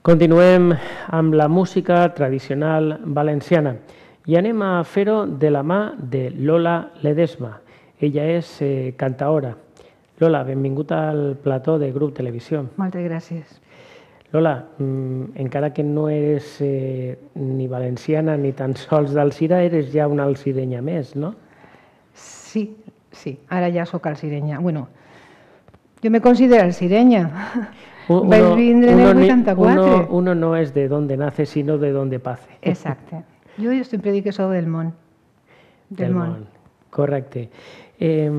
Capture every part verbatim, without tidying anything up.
Continuem amb la música tradicional valenciana i anem a fer-ho de la mà de Lola Ledesma. Ella és eh, cantaora. Lola, benvingut al plató de Grup Televisió. Moltes gràcies. Lola, mm, encara que no eres eh, ni valenciana ni tan sols d'Alzira, eres ja una alzirenya més, no? Sí, sí, ara ja sóc alzirenya. Bueno, jo me considero alzirenya. Uno, Vaig vindre en el uno, vuitanta-quatre. Uno, uno no es de donde nace, sino de donde pace. Exacte. Jo sempre dic que sóc del món. Del, Del món. món. Correcte. Eh,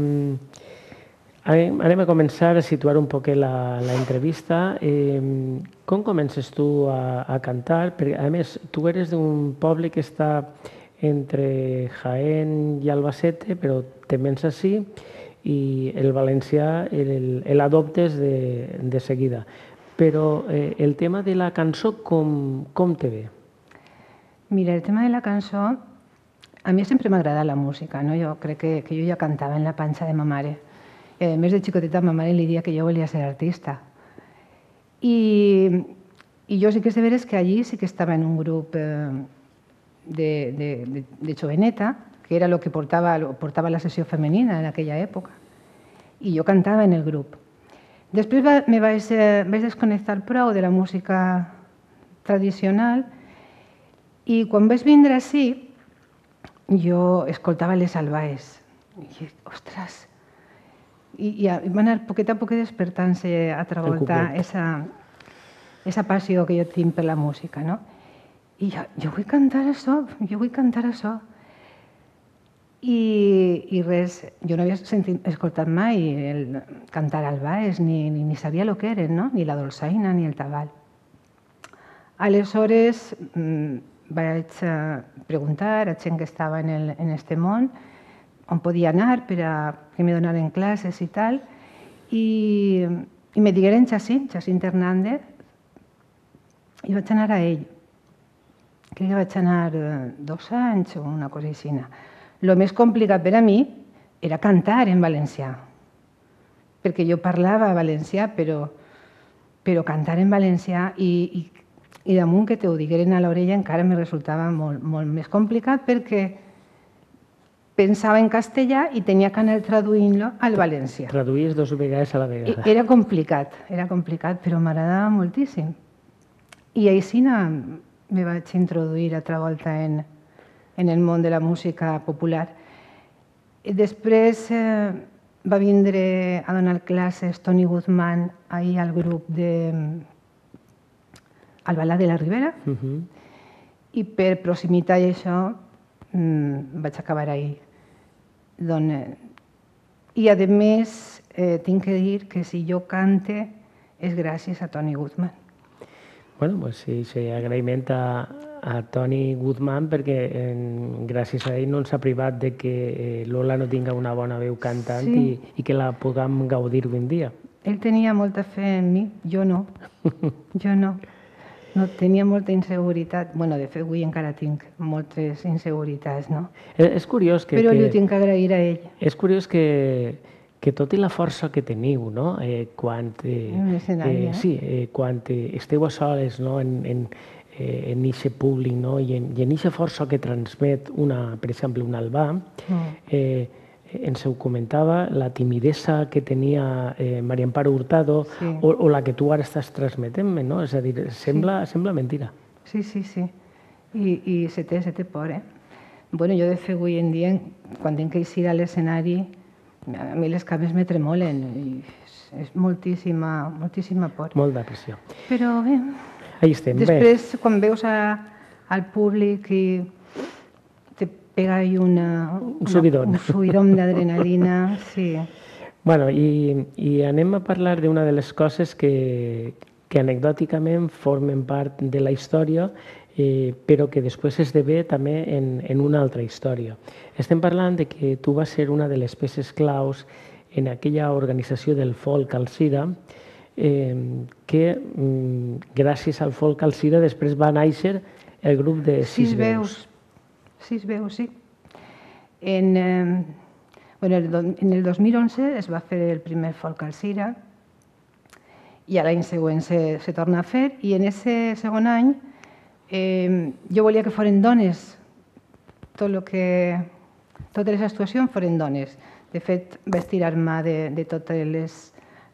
anem a començar a situar un poc la, la entrevista. Eh, com comences tu a, a cantar? Perquè, a més, tu eres d'un poble que està entre Jaén i Albacete, però te vens ací i el valencià l'adoptes de, de seguida. Però eh, el tema de la cançó, com, com te ve? Mira, el tema de la cançó, a mi sempre m'ha agradat la música, no? Jo crec que, que jo ja cantava en la panxa de ma mare. Eh, més de xicoteta, ma mare li dia que jo volia ser artista. I, i jo sí que sé veres que allí sí que estava en un grup eh, de, de, de, de joveneta, que era el que portava, portava la sessió femenina en aquella època. I jo cantava en el grup. Després va, me vaig, eh, vaig desconnectar prou de la música tradicional i quan vaig vindre ací jo escoltava les albaes. I, ostres, i, i va anar poquet a poquet despertant-se altra volta esa, esa passió que jo tinc per la música, no? I jo, jo vull cantar això, jo vull cantar això. I, i res, jo no havia sentit, escoltat mai el cantar albaes, ni, ni, ni sabia el que eren, no? Ni la dolçaina ni el tabal. Aleshores mmm, vaig preguntar a gent que estava en, el, en este món on podia anar per a que me donaren classes i tal, i, i me digueren Jacint, Jacint Hernández, i vaig anar a ell. Crec que vaig anar dos anys o una cosa així. El més complicat per a mi era cantar en valencià, perquè jo parlava valencià, però, però cantar en valencià i, i, i damunt que t'ho digueren a l'orella encara me resultava molt, molt més complicat perquè pensava en castellà i tenia que anar traduint-lo al valencià. Traduïes dos vegades a la vegada. Era complicat, era complicat, però m'agradava moltíssim. I així me vaig introduir altra volta en, en el món de la música popular. I després eh, va vindre a donar classes Toni Guzmán ahir al grup de Albalà de la Ribera, uh -huh. i per proximitat i això mmm, vaig acabar ahir. Don, eh, I a més eh, tinc que dir que si jo cante és gràcies a Toni Guzmán. Bueno, doncs sí, sí, agraïment a, a Toni Guzmán perquè eh, gràcies a ell no ens ha privat de que eh, Lola no tinga una bona veu cantant sí. i, i que la puguem gaudir avui en dia. Ell tenia molta fe en mi, jo no. Jo no. No tenia molta inseguretat. Bueno, de fet, avui encara tinc moltes inseguretats, no? És curiós que... Però li ho tinc que agrair a ell. És curiós que, que tot i la força que teniu, no? Eh, quan... Eh, en l'escenari, eh? Sí, eh, quan eh, esteu a soles, no? En, en, eh, en eixe públic, no? I en, i en eixa força que transmet, una, per exemple, un Albà, mm. eh, ens ho comentava, la timidesa que tenia eh, Maria Amparo Hurtado sí. o, o la que tu ara estàs transmetent-me, no? És a dir, sembla, sí. sembla mentira. Sí, sí, sí. I, i se té, se té por, eh? Bueno, jo de fet avui en dia, quan tinc que eixir a l'escenari, a mi les cames me tremolen i és, és moltíssima, moltíssima por. Molta pressió. Però bé, ahí estem, després bé. quan veus a, al públic i pega ahí una, un subidón, una, un subidón d'adrenalina, sí. Bueno, i, i anem a parlar d'una de les coses que, que anecdòticament formen part de la història, eh, però que després esdevé també en, en una altra història. Estem parlant de que tu vas ser una de les peces claus en aquella organització del folk Alzira, eh, que mm, gràcies al folk Alzira després va néixer el grup de Sis, Sis Veus. Sis Veus, sí. En, eh, bueno, en el dos mil onze es va fer el primer folk Alzira i a l'any següent se, se torna a fer, i en aquest segon any eh, jo volia que foren dones, tot lo que, totes les actuacions foren dones. De fet, vaig tirar-me de, de totes les,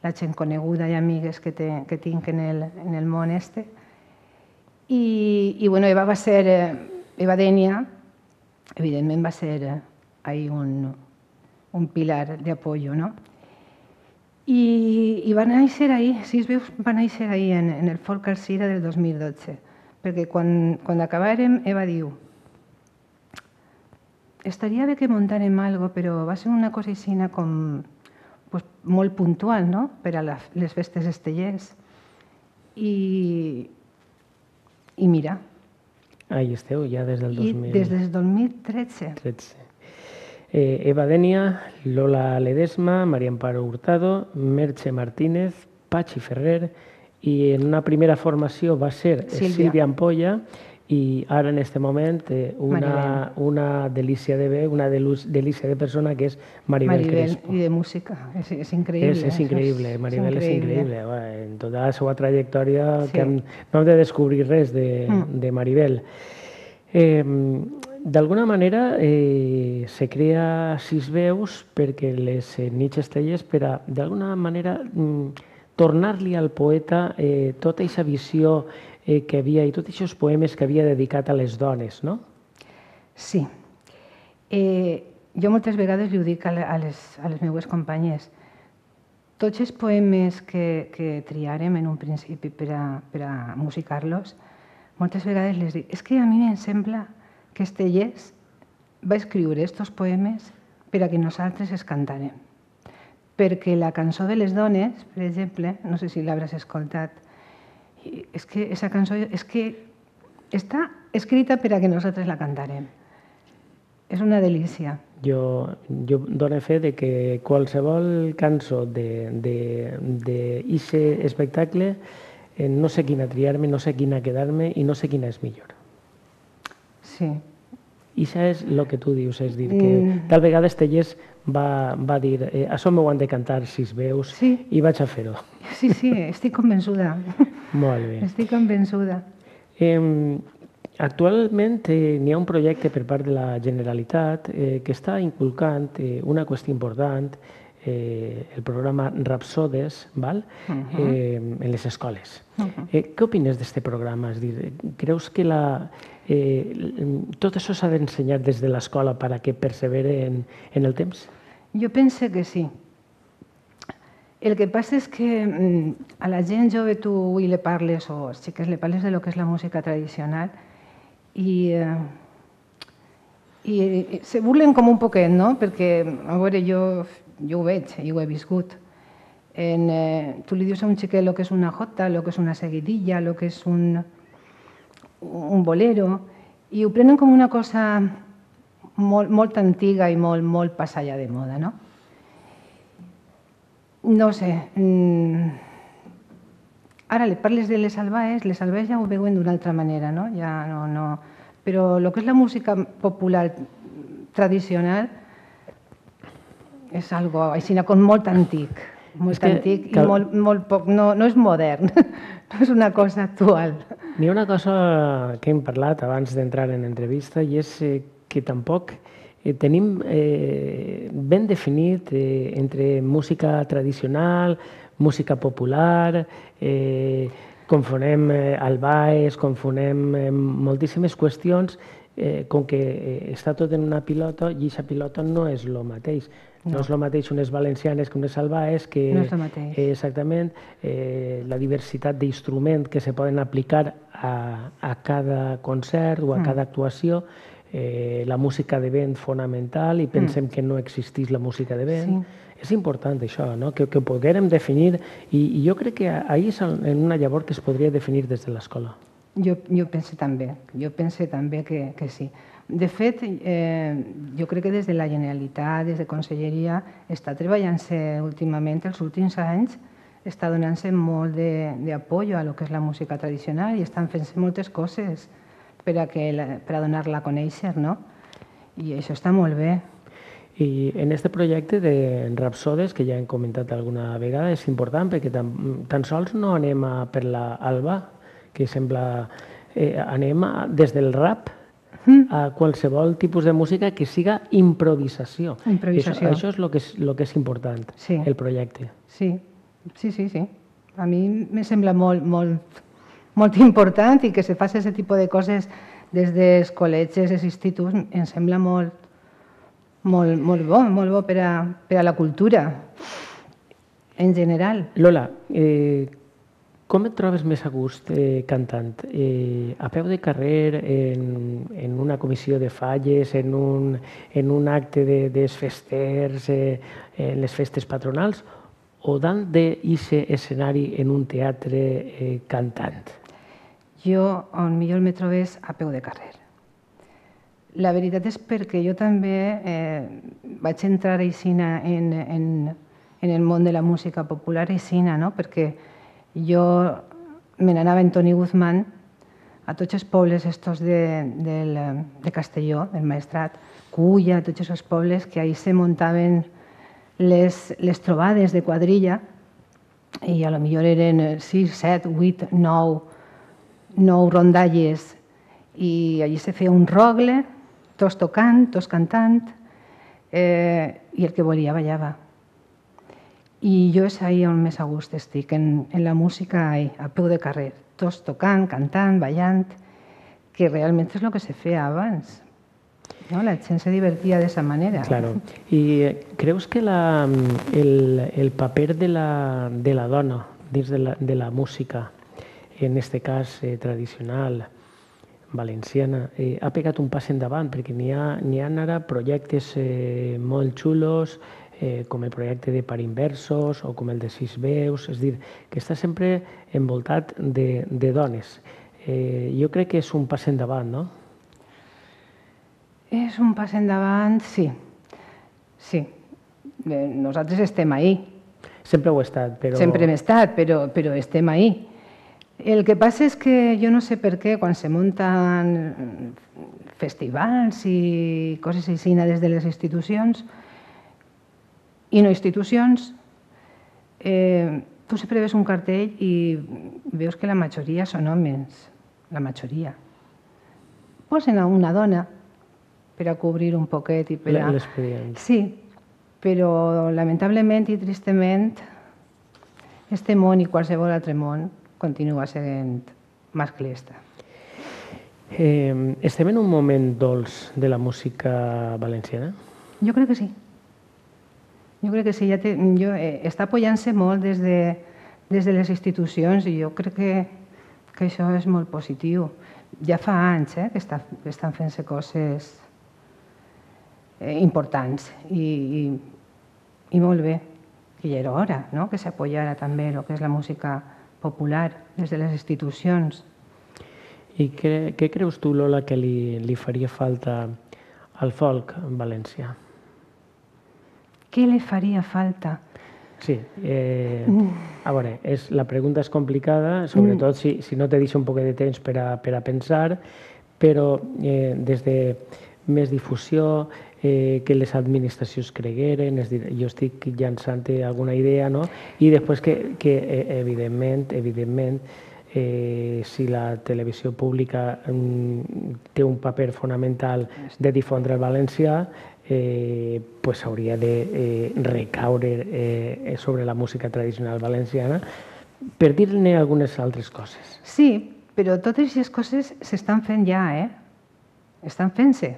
la gent coneguda i amigues que, te, que tinc en el, en el món este. I, i bueno, Eva va ser, Eva Denia, evidentment va ser ahí un, un pilar de apoyo, ¿no? I, i va néixer ahir, Sis Veus va néixer ahir en, en el Folk Alzira del dos mil dotze, perquè quan, quan acabàrem Eva diu estaria bé que muntàrem algo, però va ser una cosa així com pues, molt puntual, no?, per a la, les festes estellers. I, i mira. Ahí esteu, ja des del dos mil... I des del dos mil tretze. tretze. Eh, Eva Denia, Lola Ledesma, María Amparo Hurtado, Merche Martínez, Pachi Ferrer, i en una primera formació va ser Sílvia, Sílvia Ampolla, i ara en aquest moment eh, una, una delícia de veu, una delícia de persona que és Maribel, Maribel Crespo. I de música, és, és increïble. És, és increïble, Maribel és increïble. En tota la seva trajectòria sí. que hem, no hem de descobrir res de, mm. de Maribel. Eh, D'alguna manera eh, se crea Sis Veus perquè les eh, nits estellers per a, d'alguna manera, mm, tornar-li al poeta eh, tota aquesta visió eh, que havia i tots aquests poemes que havia dedicat a les dones, no? Sí. Eh, jo moltes vegades li ho dic a les, a les meues companyes. Tots els poemes que, que triarem en un principi per a, per a musicar-los, moltes vegades les dic, és que a mi em sembla que Estellers va escriure aquests poemes per a que nosaltres els cantàrem. Perquè la cançó de les dones, per exemple, no sé si l'hauràs escoltat, és que aquesta cançó és que està escrita per a que nosaltres la cantàrem. És una delícia. Jo, jo dono fe de que qualsevol cançó d'aquest espectacle eh, no sé quina triar-me, no sé quina quedar-me i no sé quina és millor. Sí. I això és el que tu dius, és dir, que mm. tal vegada Estellers va, va dir eh, això m'ho han de cantar Sis Veus sí. i vaig a fer-ho. Sí, sí, estic convençuda. Molt bé. Estic convençuda. Eh, actualment eh, n'hi ha un projecte per part de la Generalitat eh, que està inculcant eh, una qüestió important, eh, el programa Rapsodes, val? Uh-huh. eh, en les escoles. Uh-huh. eh, què opines d'aquest programa? És dir, creus que la... Eh, tot això s'ha d'ensenyar des de l'escola per a que persevere en, en el temps? Jo pense que sí. El que passa és que a la gent jove tu avui le parles, o als xiques le parles de lo que és la música tradicional i, eh, i se burlen com un poquet, no? Perquè, a veure, jo, jo ho veig i ho he viscut. En, eh, tu li dius a un xiquet el que és una jota, el que és una seguidilla, el que és un... un bolero, i ho prenen com una cosa molt, molt antiga i molt, molt passada de moda, no? No sé. Mm, ara li parles de les albaes, les albaes ja ho veuen d'una altra manera, no? Ja no, no... Però el que és la música popular tradicional és algo així com molt antic, molt antic i molt, molt poc... No, no és modern, no és una cosa actual. N'hi ha una cosa que hem parlat abans d'entrar en entrevista i és eh, que tampoc eh, tenim eh, ben definit eh, entre música tradicional, música popular, eh, confonem eh, albaes, confonem eh, moltíssimes qüestions, eh, com que eh, està tot en una pilota i aquesta pilota no és el mateix. No. no és el mateix unes valencianes que unes albaes, que no és el mateix. Eh, exactament eh, la diversitat d'instruments que se poden aplicar a, a cada concert o a mm. cada actuació, eh, la música de vent fonamental i pensem mm. que no existís la música de vent. Sí. És important això, no? que, que ho poguérem definir i, i jo crec que ahir és en una llavor que es podria definir des de l'escola. Jo, jo penso també, jo penso també que, que sí. De fet, eh, jo crec que des de la Generalitat, des de Conselleria, està treballant-se últimament, els últims anys, està donant-se molt d'apoyo a lo que és la música tradicional i estan fent-se moltes coses per a, que la, per a donar-la a conèixer, no? I això està molt bé. I en aquest projecte de Rapsodes, que ja hem comentat alguna vegada, és important perquè tan, tan sols no anem a per l'Alba, que sembla... Eh, anem a, des del rap a qualsevol tipus de música que siga improvisació. Improvisació. Això, això és el que és, lo que és important, sí. el projecte. Sí, sí, sí, sí. A mi me sembla molt, molt, molt important i que se faci aquest tipus de coses des dels col·legis, dels instituts, em sembla molt, molt, molt bo, molt bo per a, per a la cultura en general. Lola, eh, com et trobes més a gust eh, cantant? Eh, a peu de carrer, en, en una comissió de falles, en un, en un acte de, dels festers, eh, en les festes patronals, o dalt d'aquest escenari en un teatre eh, cantant? Jo, on millor me trobes, a peu de carrer. La veritat és perquè jo també eh, vaig entrar aixina en, en, en el món de la música popular aixina, no? Perquè jo me n'anava en Toni Guzmán a tots els pobles estos de, del, de Castelló, del Maestrat, Culla, tots aquests pobles que ahí se muntaven les, les trobades de quadrilla i a lo millor eren sis, set, vuit, nou, nou rondalles i allí se feia un rogle, tots tocant, tots cantant, eh, i el que volia ballava. I jo és ahí on més a gust estic, en, en la música ahí, a peu de carrer, tots tocant, cantant, ballant, que realment és el que se feia abans. No? La gent se divertia d'aquesta manera. Claro. I creus que la, el, el paper de la, de la dona dins de la, de la música, en aquest cas eh, tradicional, valenciana, eh, ha pegat un pas endavant, perquè n'hi ha, n'hi ha ara projectes eh, molt xulos, eh, com el projecte de Parinversos o com el de Sis Veus, és a dir, que està sempre envoltat de, de dones. Eh, jo crec que és un pas endavant, no? És un pas endavant, sí. Sí. Eh, nosaltres estem ahí. Sempre ho he estat, però... Sempre hem estat, però, però estem ahí. El que passa és que jo no sé per què quan se munten festivals i coses així des de les institucions i no institucions, eh, tu sempre ves un cartell i veus que la majoria són homes, la majoria. Posen a una dona per a cobrir un poquet i per a... L'expedient. Sí, però lamentablement i tristament este món i qualsevol altre món continua sent masclista. Eh, estem en un moment dolç de la música valenciana? Jo crec que sí. Jo crec que sí. Ja té, jo, eh, està apoyant-se molt des de, des de les institucions i jo crec que, que això és molt positiu. Ja fa anys eh, que, està, que estan fent-se coses eh, importants i, i, i molt bé. Que ja era hora, no? Que s'apoyara també el que és la música popular des de les institucions. I què, què creus tu, Lola, que li, li faria falta al folk valencià? Què li faria falta? Sí, eh, a veure, és, la pregunta és complicada, sobretot si, si no te deixa un poc de temps per a, per a pensar, però eh, des de més difusió, eh, que les administracions cregueren, és dir, jo estic llançant alguna idea, no? I després que, que evidentment, evidentment, eh, si la televisió pública mm, té un paper fonamental de difondre el valencià, eh, pues hauria de eh, recaure eh, sobre la música tradicional valenciana, per dir-ne algunes altres coses. Sí, però totes aquestes coses s'estan fent ja, eh? Estan fent-se.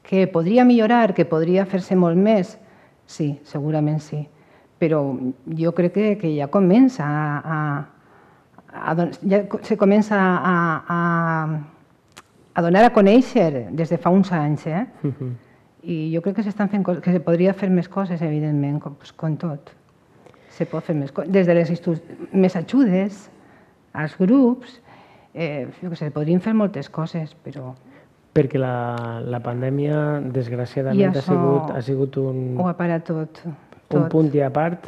Que podria millorar, que podria fer-se molt més, sí, segurament sí. Però jo crec que, que ja comença a, a, a ja se comença a, a, a donar a conèixer des de fa uns anys, eh? Uh-huh. I jo crec que s'estan fent que se podria fer més coses, evidentment, com, com tot. Se pot fer més coses. Des de les institucions, més ajudes als grups, eh, jo que sé, podrien fer moltes coses, però... Perquè la, la pandèmia, desgraciadament, ha sigut, ha sigut un, ho ha parat tot, tot. un punt i a part,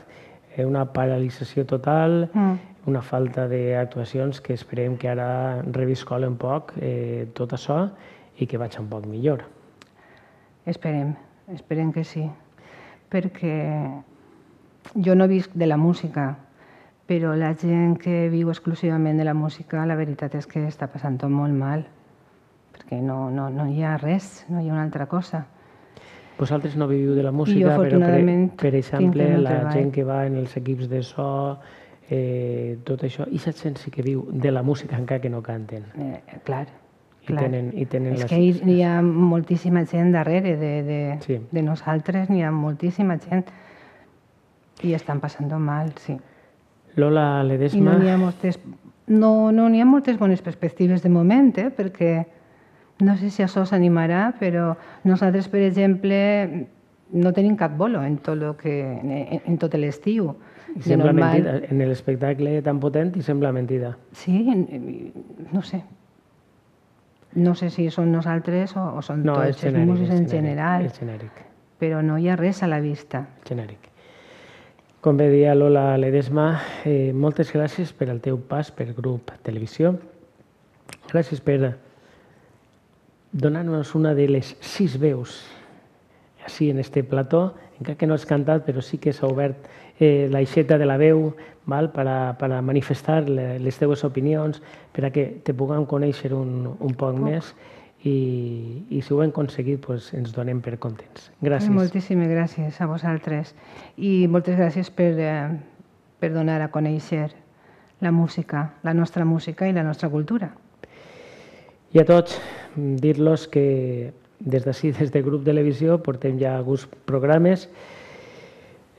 una paralització total, mm. una falta d'actuacions que esperem que ara reviscoli un poc eh, tot això i que vagi un poc millor. Esperem, esperem que sí, perquè jo no visc de la música, però la gent que viu exclusivament de la música, la veritat és que està passant-ho molt mal, perquè no, no, no hi ha res, no hi ha una altra cosa. Vosaltres no viviu de la música, jo, però per, afortunadament, per exemple, tinc el meu la treball. gent que va en els equips de so, eh, tot això, i aquesta gent sí que viu de la música encara que no canten. Eh, clar, I clar. tenen, i tenen És les... que hi, hi ha moltíssima gent darrere de, de, Sí. de nosaltres, n'hi ha moltíssima gent i estan passant mal, sí. Lola I Ledesma... no n'hi ha moltes, no, no n'hi ha moltes bones perspectives de moment, eh? Perquè no sé si això s'animarà, però nosaltres, per exemple, no tenim cap bolo en tot, lo que, en, en tot l'estiu. I sembla mentida, en l'espectacle tan potent i sembla mentida. Sí, no sé. No sé si són nosaltres o, o són no, tots genèric, els músics en genèric, general, és genèric. Però no hi ha res a la vista. Genèric. Com bé deia Lola Ledesma, eh, moltes gràcies per al teu pas per Grup Televisió. Gràcies per donar-nos una de les sis veus així en este plató, encara que no has cantat, però sí que s'ha obert eh, l'aixeta de la veu val? Per, a, per a manifestar les teves opinions, per a que te puguem conèixer un, un poc Puc. més i, i si ho hem aconseguit pues, ens donem per contents. Gràcies. Moltíssimes gràcies a vosaltres i moltes gràcies per, eh, per donar a conèixer la música, la nostra música i la nostra cultura. I a tots, dir-los que des d'ací, des del Grup Televisió, portem ja alguns programes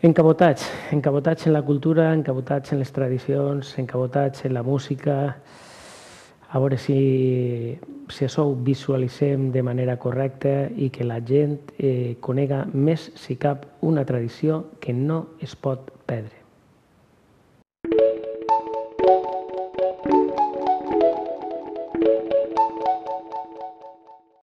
encabotats, encabotats en la cultura, encabotats en les tradicions, encabotats en la música, a veure si, si això ho visualitzem de manera correcta i que la gent eh, conega més, si cap, una tradició que no es pot perdre.